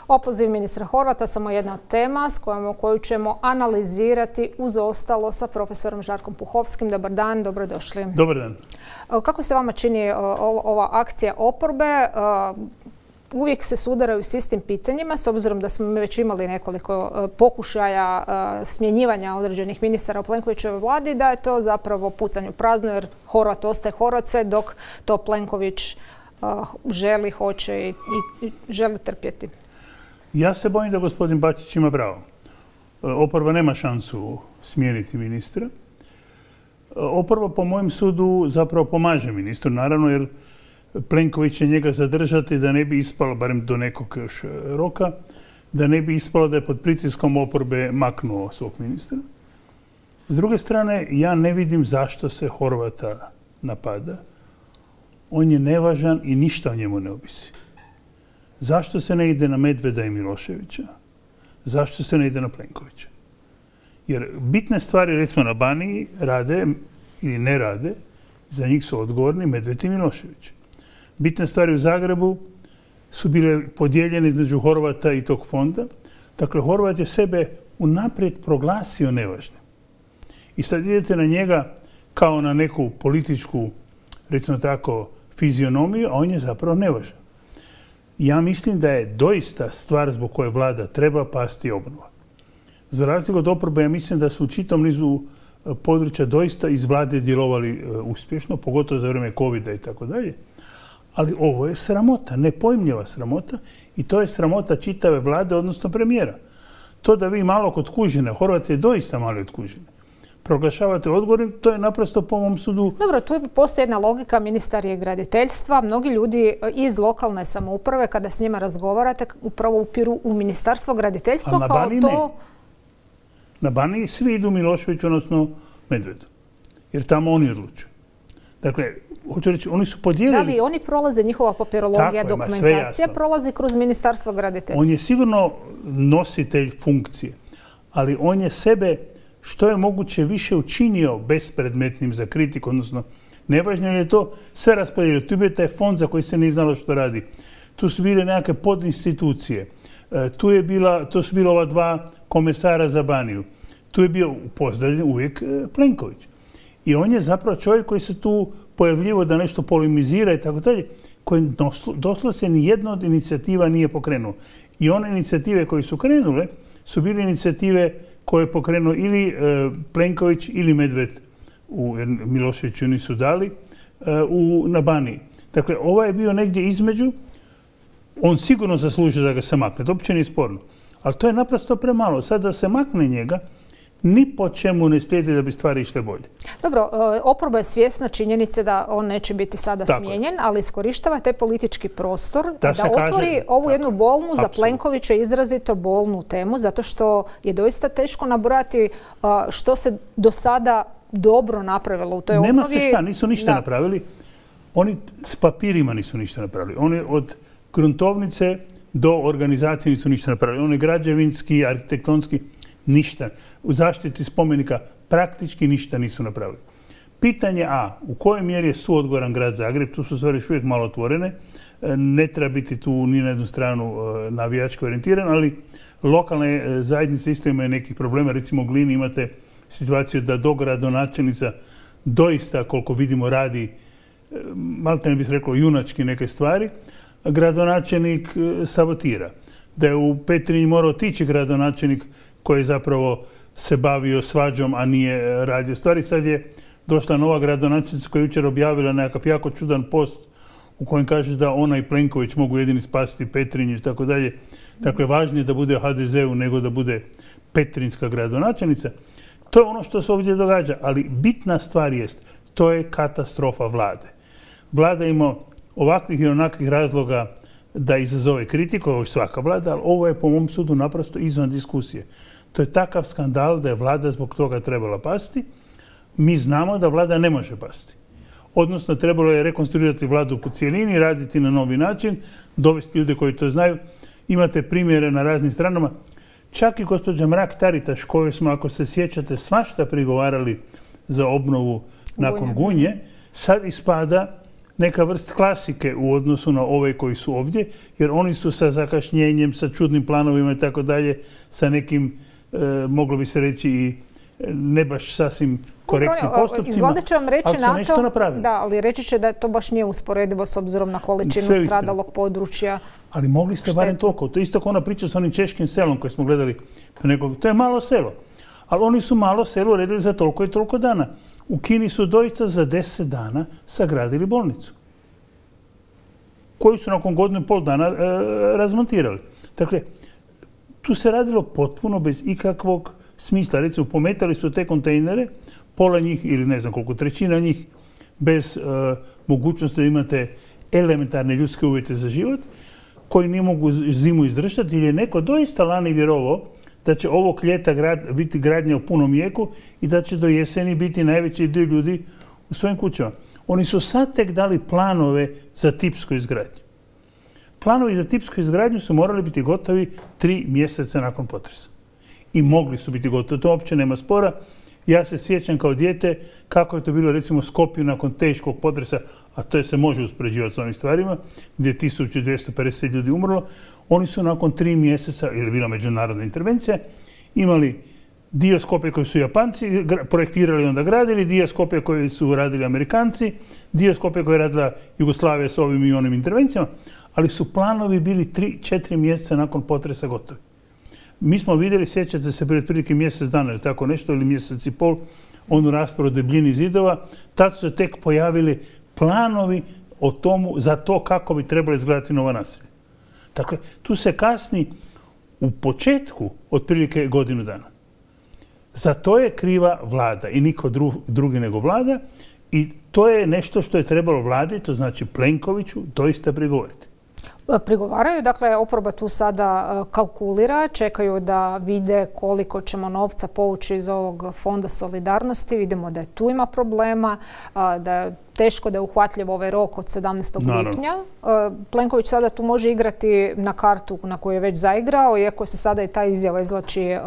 Opoziv ministra Horvata samo jedna od tema koju ćemo analizirati uz ostalo sa profesorom Žarkom Puhovskim. Dobar dan, dobrodošli. Dobar dan. Kako se vama čini ova akcija oporbe? Uvijek se sudaraju s istim pitanjima, s obzirom da smo mi već imali nekoliko pokušaja smjenjivanja određenih ministara u Plenkovićevoj vladi, da je to zapravo pucanje u prazno, jer Horvat ostaje Horvat sve dok to Plenković želi, hoće i želi trpjeti. Ja se bojim da gospodin Bačić ima pravo. Oporba nema šansu smijeniti ministra. Oporba, po mojem sudu, zapravo pomaže ministru, naravno, jer Plenković će njega zadržati da ne bi ispalo, barem do nekog još roka, da ne bi ispalo da je pod pritiskom oporbe maknuo svog ministra. S druge strane, ja ne vidim zašto se Horvata napada. On je nevažan i ništa o njemu ne ovisi. Zašto se ne ide na Medveda i Miloševića? Zašto se ne ide na Plenkovića? Jer bitne stvari, recimo na Baniji, rade ili ne rade, za njih su odgovorni Medved i Milošević. Bitne stvari u Zagrebu su bile podijeljene između Horvata i tog fonda. Dakle, Horvat je sebe unaprijed proglasio nevažnim. I sad idete na njega kao na neku političku, recimo tako, fizionomiju, a on je zapravo nevažan. Ja mislim da je doista stvar zbog koje vlada treba pasti obnova. Za razliku od oporbe, ja mislim da su u čitavom nizu područja doista iz vlade djelovali uspješno, pogotovo za vrijeme covida i tako dalje. Ali ovo je sramota, nepojmljiva sramota i to je sramota čitave vlade, odnosno premijera. To da vi malo kod kužine, Horvat je doista malo od kužine, proglašavate odgovornim, to je naprosto po mom sudu... Dobro, tu postoji jedna logika, ministar je graditeljstva. Mnogi ljudi iz lokalne samouprave, kada s njima razgovarate, upravo upiru u ministarstvo graditeljstva kao to... Na Baniji svi idu Miloševiću, odnosno Medvedu, jer tamo oni odlučuju. Dakle, hoću reći, oni su podijelili... Da li oni prolaze, njihova papirologija, dokumentacija prolazi kroz ministarstvo graditeljstva? On je sigurno nositelj funkcije, ali on je sebe što je moguće više učinio bespredmetnim za kritiku, odnosno nevažno je to sve raspodijelio. Tu je bio taj fond za koji se nije znalo što radi. Tu su bile nekakve podinstitucije. Tu su bila ova dva komesara za Baniju. Tu je bio pozdravljen uvijek Plenković. I on je zapravo čovjek koji se tu pojavljivo da nešto polemizira i tako dalje, koji doslovce ni jedna od inicijativa nije pokrenuo. I one inicijative koje su krenule su bile inicijative koje je pokrenuo ili Plenković ili Medved, jer Miloševiću nisu dali, na Baniji. Dakle, ovaj je bio negdje između. On sigurno zaslužuje da ga se makne. To uopće nije sporno. Ali to je naprosto premalo. Sad da se makne njega, ni po čemu ne slijedi da bi stvari išle bolje. Dobro, oporba je svjesna činjenice da on neće biti sada smijenjen, ali iskorištava taj politički prostor da otvori ovu jednu bolnu, za Plenkovića izrazito bolnu temu, zato što je doista teško nabrojati što se do sada dobro napravilo u toj obnovi. Nema se šta, nisu ništa napravili. Oni s papirima nisu ništa napravili. Oni od gruntovnice do organizacije nisu ništa napravili. Oni građevinski, arhitektonski, ništa. U zaštiti spomenika praktički ništa nisu napravili. Pitanje A, u kojoj mjeri je suodgovoran grad Zagreb, tu su stvari još uvijek malo otvorene, ne treba biti tu ni na jednu stranu navijačko orijentiran, ali lokalne zajednice isto imaju nekih problema. Recimo u Glini imate situaciju da dogradonačelnica doista, koliko vidimo, radi, malo ne bih rekao, junački neke stvari, gradonačelnik sabotira. Da je u Petrinji morao otići gradonačelnik koji je zapravo se bavio svađom, a nije radio stvari. Sad je došla nova gradonačelnica koja je jučer objavila nekakav jako čudan post u kojem kaže da ona i Plenković mogu jedini spasiti Petrinju i tako dalje. Dakle, važnije da bude HDZ-u nego da bude petrinjska gradonačelnica. To je ono što se ovdje događa, ali bitna stvar jest, to je katastrofa vlade. Vlada ima ovakvih i onakvih razloga da izazove kritiku, ovo je svaka vlada, ali ovo je po mom sudu naprosto izvan diskusije. To je takav skandal da je vlada zbog toga trebala pasti. Mi znamo da vlada ne može pasti. Odnosno, trebalo je rekonstruirati vladu po cijelini, raditi na novi način, dovesti ljude koji to znaju. Imate primjere na raznim stranama. Čak i gospođa Mrak-Taritaš, koju smo, ako se sjećate, svašta prigovarali za obnovu nakon Gunje, sad ispada neka vrst klasike u odnosu na ove koji su ovdje, jer oni su sa zakašnjenjem, sa čudnim planovima i tako dalje, sa nekim, moglo bi se reći, i ne baš sasvim korektnim postupcima, Izgleda će vam reći ali su nešto napravili. Da, ali reći će da to baš nije usporedivo s obzirom na količinu stradalog područja. Ali mogli ste barem toliko. To je isto kao ona priča s onim češkim selom koje smo gledali. To je malo selo. Ali oni su malo selo uredili za toliko i toliko dana. U Kini su doista za 10 dana sagradili bolnicu, koju su nakon godinu i pol dana razmontirali. Dakle, tu se radilo potpuno bez ikakvog smisla. Recimo, pometali su te kontejnere, pola njih ili ne znam koliko, trećina njih bez mogućnosti da imate elementarne ljudske uvjete za život, koji ne mogu zimu izdržati, jer je neko doista lani vjerovao da će ovog ljeta biti gradnja u punom jeku i da će do jeseni biti najveći dio ljudi u svojim kućama. Oni su sad tek dali planove za tipsku izgradnju. Planovi za tipsku izgradnju su morali biti gotovi 3 mjeseca nakon potresa. I mogli su biti gotovi. To uopće nema spora. Ja se sjećam kao dijete kako je to bilo recimo u Skopju nakon teškog potresa, a to se može uspoređivati s ovim stvarima, gdje je 1250 ljudi umrlo. Oni su nakon 3 mjeseca, jer je bila međunarodna intervencija, imali dio Skopje koji su Japanci projektirali i onda gradili, dio Skopje koji su radili Amerikanci, dio Skopje koji je radila Jugoslavija s ovim i onim intervencijama, ali su planovi bili 3-4 mjeseca nakon potresa gotovi. Mi smo vidjeli, sjećate se, prije otprilike mjesec dana ili tako nešto, ili mjesec i pol, onu raspravu o debljini zidova, tad su se tek pojavili planovi o tomu, za to kako bi trebalo izgledati nova naselja. Dakle, tu se kasni u početku otprilike godinu dana. Za to je kriva vlada i niko drugi nego vlada, i to je nešto što je trebalo vladi, to znači Plenkoviću, doista prigovoriti. Prigovaraju, dakle, oporba tu sada kalkulira, čekaju da vide koliko ćemo novca povući iz ovog fonda solidarnosti. Vidimo da tu ima problema, da je teško, da je uhvatljiv ovaj rok od 17. lipnja. Plenković sada tu može igrati na kartu na koju je već zaigrao, iako se sada i ta izjava izvlači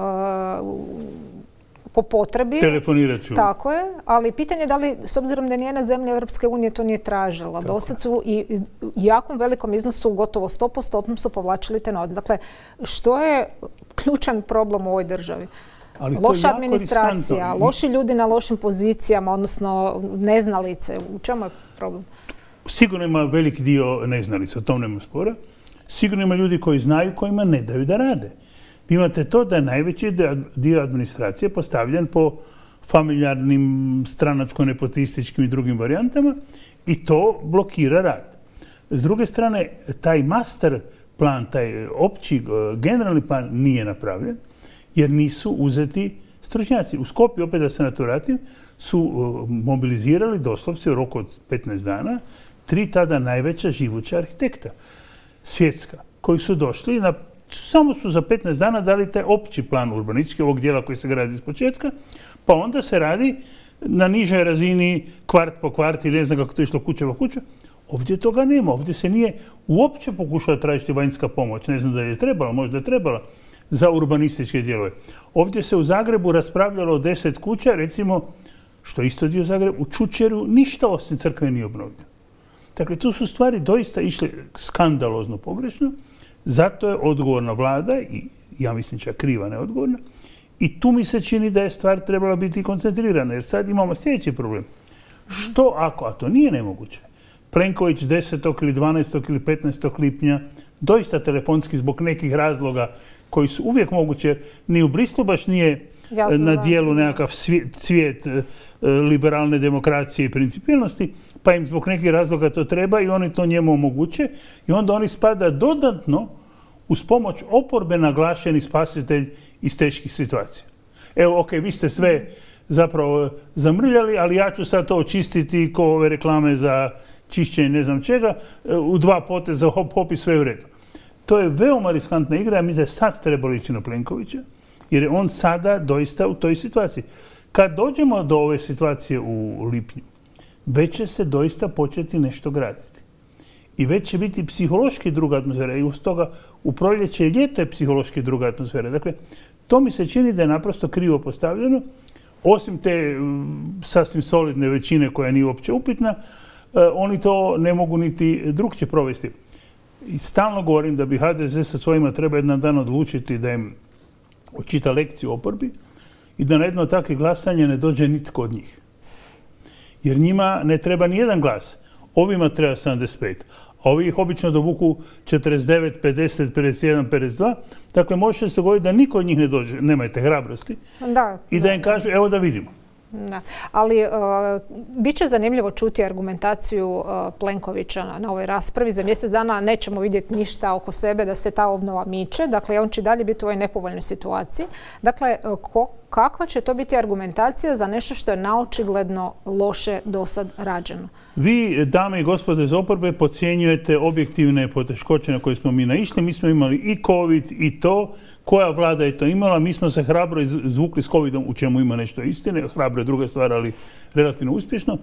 po potrebi. Telefonirat ću. Tako je, ali pitanje je da li, s obzirom da nijedna zemlja Europske unije to nije tražila, dosad su i jakom velikom iznosu, gotovo 100% su povlačili te novce. Dakle, što je ključan problem u ovoj državi? Loša administracija, loši ljudi na lošim pozicijama, odnosno neznalice. U čemu je problem? Sigurno ima veliki dio neznalica, o tom nema spora. Sigurno ima ljudi koji znaju, kojima ne daju da rade. Vi imate to da je najveći dio administracije postavljen po familijarnim, stranačko-nepotističkim i drugim varijantama i to blokira rad. S druge strane, taj master plan, taj opći generalni plan nije napravljen jer nisu uzeti stručnjaci. U Skopju, opet da se na to vratim, su mobilizirali doslovce u roku od 15 dana 3 tada najveća živuća arhitekta svjetska, koji su došli samo su za 15 dana dali taj opći plan urbanistički, ovog dijela koji se gradi iz početka, pa onda se radi na nižoj razini kvart po kvart ili ne znam kako to išlo kuća po kuća. Ovdje toga nema. Ovdje se nije uopće pokušala tražiti vanjska pomoć. Ne znam da je trebala, možda je trebala za urbanističke dijelove. Ovdje se u Zagrebu raspravljalo o 10 kuća, recimo, što je isto dio Zagreba, u Čučeru ništa osim crkve nije obnovljeno. Dakle, tu su stvari doista išle skandalozno pogrešno. Zato je odgovorna vlada, i ja mislim čak kriva neodgovorna, i tu mi se čini da je stvar trebala biti koncentrirana, jer sad imamo sljedeći problem. Što ako, a to nije nemoguće, Plenković 10. ili 12. ili 15. lipnja doista telefonski zbog nekih razloga koji su uvijek moguće, ni u Brislu baš nije na dijelu nekakav cvijet liberalne demokracije i principijelnosti, pa im zbog nekih razloga to treba i oni to njemu omoguće i onda oni spada dodatno uz pomoć oporbe naglašeni spasitelj iz teških situacija. Evo, ok, vi ste sve zapravo zamrljali, ali ja ću sad to očistiti ko ove reklame za čišćenje ne znam čega, u 2 poteza hop i sve u redu. To je veoma riskantna igra, ja mislim da je sad trebalo ići na Plenkovića, jer je on sada doista u toj situaciji. Kad dođemo do ove situacije u lipnju, već će se doista početi nešto graditi. I već će biti psihološki druga atmosfera. I uz toga u proljeće i ljeto je psihološki druga atmosfera. Dakle, to mi se čini da je naprosto krivo postavljeno. Osim te sasvim solidne većine koja nije uopće upitna, oni to ne mogu niti drukčije provesti. I stalno govorim da bi HDZ sa svojima treba jedan dan odlučiti da im očita lekciju oporbi i da na jedno takve glasanje ne dođe nitko od njih. Jer njima ne treba ni jedan glas. Ovima treba 75. A ovi ih obično dovuku 49, 50, 51, 52. Dakle, može se dogoditi da niko od njih ne dođe, nemajte hrabrosti, i da im kažu, evo da vidimo. Da. Ali bit će zanimljivo čuti argumentaciju Plenkovića na ovoj raspravi. Za mjesec dana nećemo vidjeti ništa oko sebe da se ta obnova miče. Dakle, on će dalje biti u ovoj nepovoljnoj situaciji. Dakle, kakva će to biti argumentacija za nešto što je naočigledno loše do sad rađeno? Vi, dame i gospode iz oporbe, podcjenjujete objektivne poteškoće na koje smo mi naišli. Mi smo imali i COVID i to. Koja vlada je to imala? Mi smo se hrabro izvukli s COVID-om, u čemu ima nešto istine. Hrabro je druga stvar, ali relativno uspješno.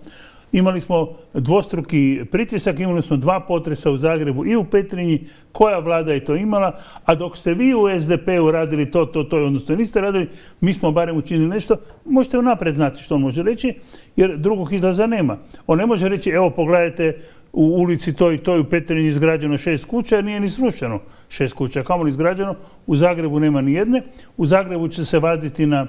Imali smo dvostruki pritisak, imali smo 2 potresa u Zagrebu i u Petrinji. Koja vlada je to imala? A dok ste vi u SDP-u radili to, odnosno niste radili, mi smo barem učinili nešto. Možete unaprijed znati što on može reći, jer drugog izlaza nema. On ne može reći, evo pogledajte, u ulici to i to u Petrinji izgrađeno 6 kuća, jer nije ni srušeno 6 kuća. Kamoli izgrađeno, u Zagrebu nema ni jedne. U Zagrebu će se vaditi na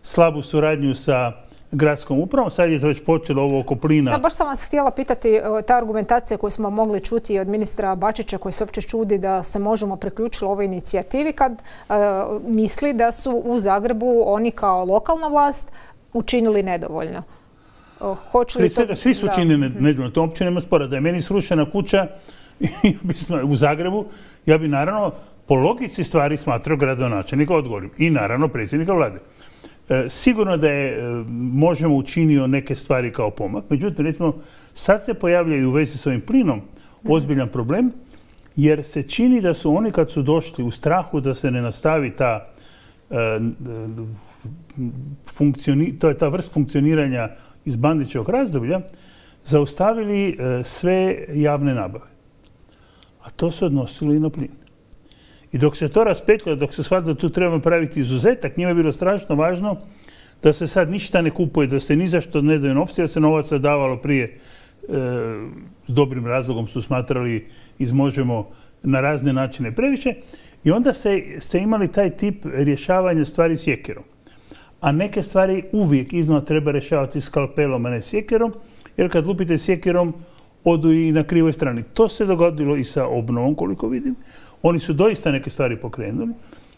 slabu suradnju sa gradskom upravom. Sad je to već počelo ovo oko plina. Da, baš sam vas htjela pitati, ta argumentacija koju smo mogli čuti od ministra Bačića, koji se uopće čudi da se možemo priključiti ovoj inicijativi, kad misli da su u Zagrebu oni kao lokalna vlast učinili nedovoljno. Prije svega, svi su učinili nedovoljno. To uopće nema spora. Da je meni srušena kuća u Zagrebu, ja bi naravno po logici stvari smatrao gradonačelnika odgovornim. I naravno predsjednika vlade. Sigurno da je možemo učinio neke stvari kao pomak. Međutim, recimo, sad se pojavljaju u vezi s ovim plinom ozbiljan problem, jer se čini da su oni kad su došli u strahu da se ne nastavi ta vrst funkcioniranja iz Bandićevog razdoblja, zaustavili sve javne nabave. A to se odnosilo i na plin. I dok se to raspetljalo, dok se shvatilo da tu trebamo praviti izuzetak, njima je bilo strašno važno da se sad ništa ne kupuje, da se ni za što ne daju novci, da se novaca davalo prije s dobrim razlogom su smatrali Možemo na razne načine previše. I onda ste imali taj tip rješavanja stvari sjekirom. A neke stvari uvijek iznova treba rješavati skalpelom, a ne sjekirom, jer kad lupite sjekirom, odu i na krivoj strani. To se dogodilo i sa obnovom, koliko vidim. Oni su doista neke stvari pokrenuli.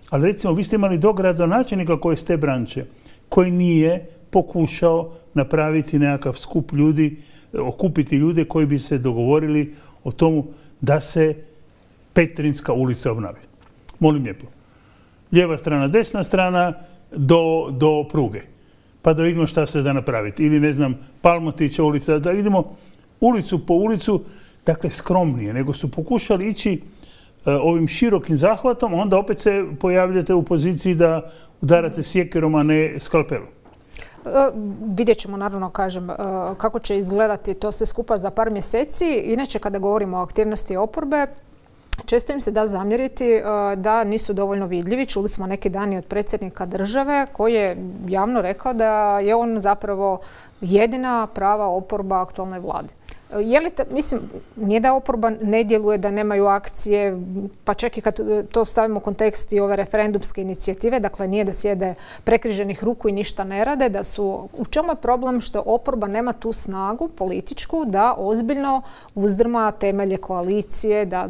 Ali recimo, vi ste imali dogradonačelnika koji je s te branče, koji nije pokušao napraviti nekakav skup ljudi, okupiti ljude koji bi se dogovorili o tomu da se Petrinjska ulica obnavi. Molim lijepo. Lijeva strana, desna strana do pruge. Pa da vidimo šta se da napraviti. Ili, ne znam, Palmotića ulica, da vidimo ulicu po ulicu, dakle skromnije, nego su pokušali ići ovim širokim zahvatom, onda opet se pojavljate u poziciji da udarate sjekirom, a ne skalpelom. Vidjet ćemo, naravno, kažem, kako će izgledati to sve skupa za par mjeseci. Inače, kada govorimo o aktivnosti oporbe, često im se da zamjeriti da nisu dovoljno vidljivi. Čuli smo neki dani od predsjednika države koji je javno rekao da je on zapravo jedina prava oporba aktualnoj vladi. Mislim, nije da oporba ne djeluje, da nemaju akcije, pa čak i kad to stavimo u kontekst i ove referendumske inicijative, dakle nije da sjede prekriženih ruku i ništa ne rade, u čemu je problem što oporba nema tu snagu političku da ozbiljno uzdrma temelje koalicije, da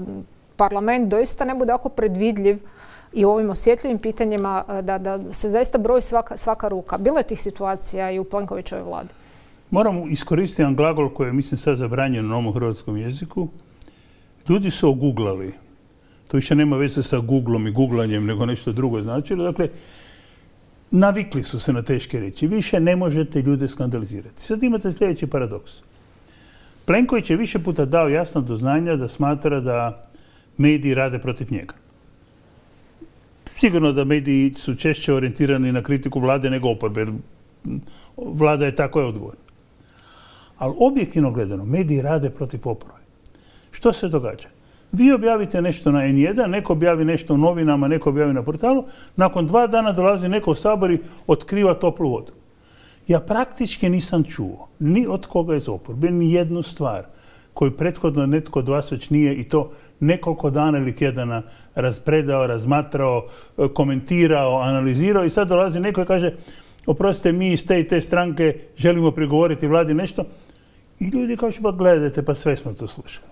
parlament doista ne bude ako predvidljiv i u ovim osjetljivim pitanjima, da se zaista broji svaka ruka. Bilo je tih situacija i u Plenkovićevoj vladi. Moram iskoristiti jedan glagol koji je, mislim, sad zabranjen na ovom hrvatskom jeziku. Ljudi su oguglali. To više nema veze sa googlom i guglanjem, nego nešto drugo značilo. Dakle, navikli su se na teške riječi. Više ne možete ljude skandalizirati. Sad imate sljedeći paradoks. Plenković je više puta dao jasno do znanja da smatra da mediji rade protiv njega. Sigurno da mediji su češće orijentirani na kritiku vlade nego oporbe, jer vlada je tako odgovorna. Ali objektivno gledano, mediji rade protiv oporbe. Što se događa? Vi objavite nešto na N1, neko objavi nešto u novinama, neko objavi na portalu, nakon 2 dana dolazi neko u Sabor i otkriva toplu vodu. Ja praktički nisam čuo ni od koga iz oporbe, ni jednu stvar koju prethodno netko od vas već nije i to nekoliko dana ili tjedana raspredao, razmatrao, komentirao, analizirao i sad dolazi neko i kaže oprostite, mi iz te i te stranke želimo prigovoriti vladi nešto i ljudi kažu pa gledajte, pa sve smo to slušali.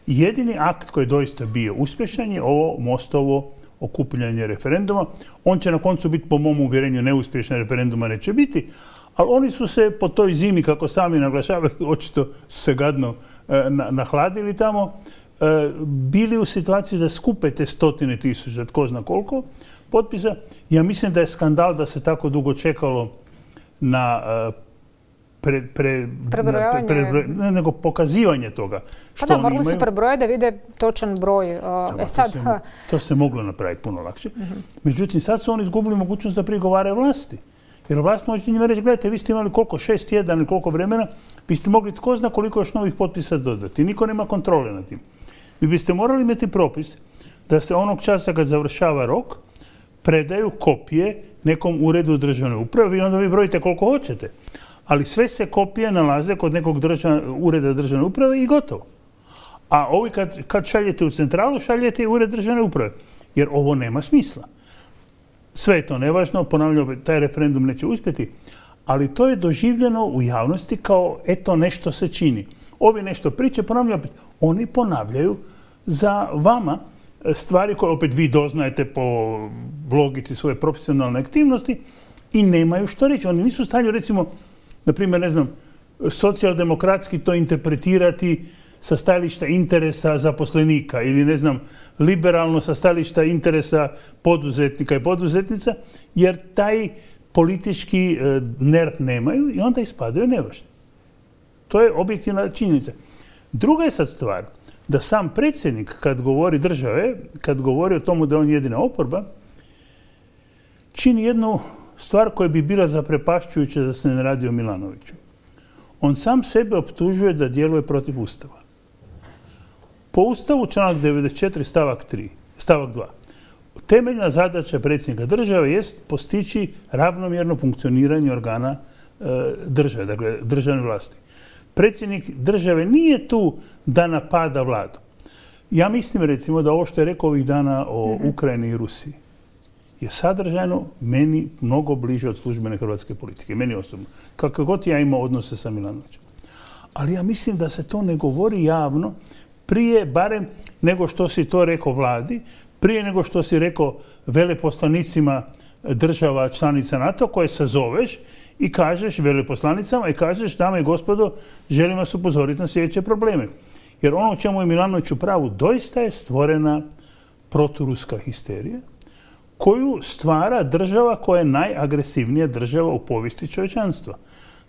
Jedini akt koji je doista bio uspješan je ovo Mostovo okupljanje referenduma. On će na koncu biti, po mom uvjerenju, neuspješan, referenduma neće biti, ali oni su se po toj zimi, kako sami naglašavaju, očito su se gadno nahladili tamo, bili u situaciji da skupe te stotine tisuća, tko zna koliko potpisa. Ja mislim da je skandal da se tako dugo čekalo na nego pokazivanje toga što oni imaju. Morali su prebrojati da vide točan broj. To se moglo napraviti puno lakše. Međutim, sad su oni izgubili mogućnost da prigovaraju vlasti. Jer vlast može njima reći, gledajte, vi ste imali koliko, 6 tjedana ili koliko vremena, vi ste mogli tko zna koliko još novih potpisa dodati. Niko nema kontrole nad tim. Vi biste morali imati propis da se onog časa kad završava rok predaju kopije nekom uredu državne uprave i onda vi brojite koliko hoćete. Ali sve se kopije nalaze kod nekog ureda državne uprave i gotovo. A ovi kad šaljete u centralu, šaljete i ured državne uprave. Jer ovo nema smisla. Sve je to nevažno, ponavljam, taj referendum neće uspjeti, ali to je doživljeno u javnosti kao eto nešto se čini. Ovi nešto priče, ponavljam, oni ponavljaju za vama stvari koje opet vi doznajete po logici svoje profesionalne aktivnosti i nemaju što reći. Oni nisu u stanju, recimo, na primjer, ne znam, socijaldemokratski to interpretirati sa stajališta interesa zaposlenika ili, ne znam, liberalno sa stajališta interesa poduzetnika i poduzetnica, jer taj politički nerv nemaju i onda ispadaju nevažni. To je objektivna činjenica. Druga je sad stvar da sam predsjednik, kad govori države, kad govori o tomu da on jedina oporba, čini jednu stvar koja bi bila zaprepašćujuća da se ne radi o Milanoviću. On sam sebe optužuje da djeluje protiv Ustava. Po Ustavu članak 94 stavak 2. Temeljna zadaća predsjednika države jest postići ravnomjerno funkcioniranje organa države, dakle državne vlasti. Predsjednik države nije tu da napada vladu. Ja mislim recimo da ovo što je rekao ovih dana o Ukrajini i Rusiji je sadržajno meni mnogo bliže od službene hrvatske politike, meni osobno. Kako god ja imao odnose sa Milanovićem. Ali ja mislim da se to ne govori javno prije, barem nego što si to rekao vladi, prije nego što si rekao veleposlanicima država članica NATO koje sazoveš i kažeš veleposlanicama i kažeš, dame i gospodo, želim vas upozoriti na sljedeće probleme. Jer ono u čemu je Milanović u pravu, doista je stvorena proturuska histerija koju stvara država koja je najagresivnija država u povijesti čovječanstva.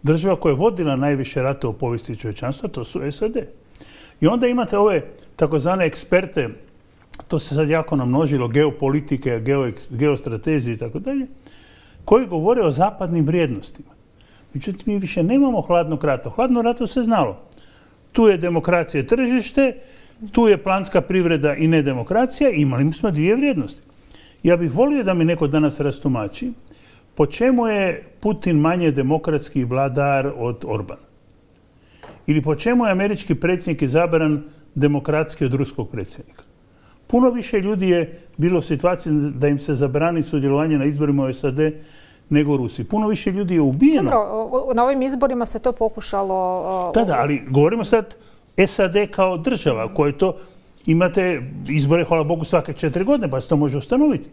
Država koja je vodila najviše rata u povijesti čovječanstva, to su SAD. I onda imate ove takozvane eksperte, to se sad jako namnožilo, geopolitike, geostratezije i tako dalje, koji govore o zapadnim vrijednostima. Međutim, mi više nemamo hladnog rata. Hladno rato se znalo. Tu je demokracija i tržište, tu je planska privreda i nedemokracija, imali smo dvije vrijednosti. Ja bih volio da mi neko danas rastumači po čemu je Putin manje demokratski vladar od Orbana. Ili po čemu je američki predsjednik izabran demokratski od ruskog predsjednika. Puno više ljudi je bilo u situaciji da im se zabrani sudjelovanje na izborima u SAD nego u Rusiji. Puno više ljudi je ubijeno. Dobro, na ovim izborima se to pokušalo... Da, ali govorimo sad SAD kao država koje to... Imate izbore, hvala Bogu, svake 4 godine, pa se to može ustanoviti.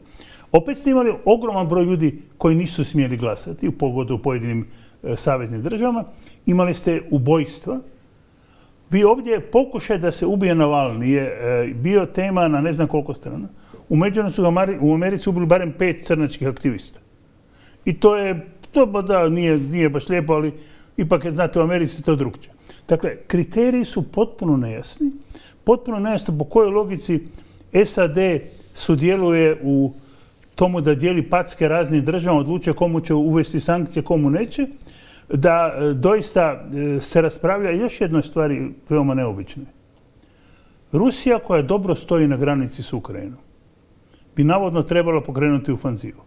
Opet ste imali ogroman broj ljudi koji nisu smjeli glasati, pogotovo u pojedinim saveznim državama. Imali ste ubojstva. Vi ovdje pokušaj da se ubije Navalni je bio tema na ne znam koliko strana. U međuvremenu su u Americi ubili barem 5 crnačkih aktivista. I to je, da, nije baš lijepo, ali ipak, znate, u Americi to drukčije. Dakle, kriteriji su potpuno nejasni. Potpuno nejasno po kojoj logici SAD sudjeluje u tomu da dijeli packe raznim državama, odlučuje komu će uvesti sankcije, komu neće, da doista se raspravlja još jednoj stvari veoma neobičnoj. Rusija, koja dobro stoji na granici s Ukrajinom, bi navodno trebala pokrenuti ofanzivu.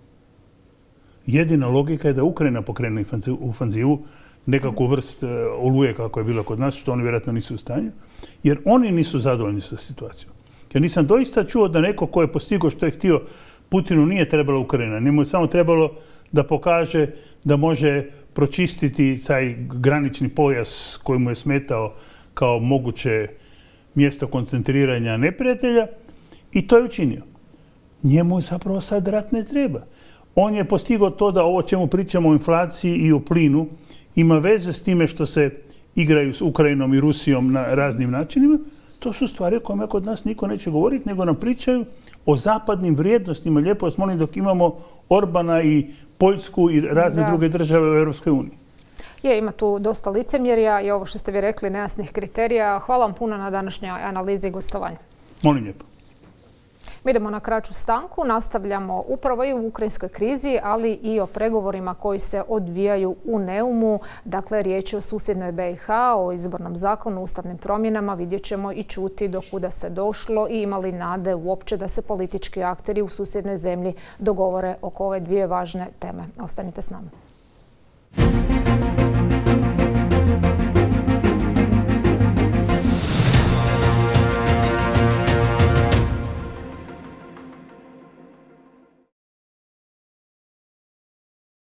Jedina logika je da Ukrajina pokrene ofanzivu, nekakvu vrst oluje kako je bilo kod nas, što oni vjerojatno nisu u stanju, jer oni nisu zadovoljni sa situacijom. Ja nisam doista čuo da neko ko je postigao što je htio, Putinu nije trebala Ukrajina. Njemu je samo trebalo da pokaže da može pročistiti taj granični pojas koji mu je smetao kao moguće mjesto koncentriranja neprijatelja i to je učinio. Njemu zapravo sad rat ne treba. On je postigao to da ovo čemu pričamo o inflaciji i o plinu ima veze s time što se igraju s Ukrajinom i Rusijom na raznim načinima. To su stvari o kojima kod nas niko neće govoriti, nego nam pričaju o zapadnim vrijednostima. Lijepo vas molim, dok imamo Orbana i Poljsku i razne druge države u Europskoj uniji. Ima tu dosta licemjerja i ovo što ste vi rekli, nejasnih kriterija. Hvala vam puno na današnjoj analizi i gostovanju. Molim lijepo. Mi idemo na kraću stanku, nastavljamo upravo i u ukrajinskoj krizi, ali i o pregovorima koji se odvijaju u Neumu. Dakle, riječ je o susjednoj BiH, o izbornom zakonu, ustavnim promjenama. Vidjet ćemo i čuti do kuda se došlo i imali nade uopće da se politički akteri u susjednoj zemlji dogovore oko ove dvije važne teme. Ostanite s nama.